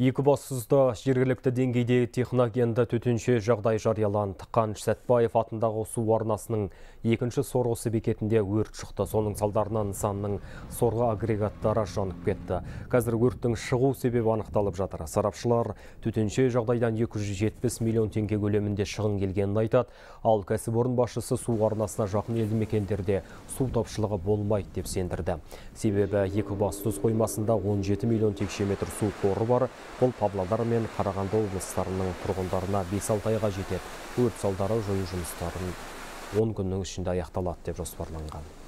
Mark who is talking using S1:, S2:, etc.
S1: Екібастұзда жергілікті деңгейде техногенді төтенше жағдай жарияланды. Қаныш Сәтбаев атындағы су арнасының екінші сорғысы бекетінде өрт шықты. Соның салдарынан нысанның сорғы агрегаттары жанып кетті. Қазір өрттің шығу себебі анықталып жатыр. Сарапшылар төтенше жағдайдан 270 миллион теңге көлемінде шығын келгенін айтады. Ал кәсіпорын басшысы су арнасына жақын елді мекендерде су тапшылығы болмайды деп сендірді. Себебі Екібастұз қоймасында 17 миллион текше метр су қоры бар. Бұл Павлодар мен Қарағанды облыстарының тұрғындарына 5-6 айға жетеді. Өрт салдары жою жұмыстарын 10 күннің ішінде аяқталады деп жоспарланған.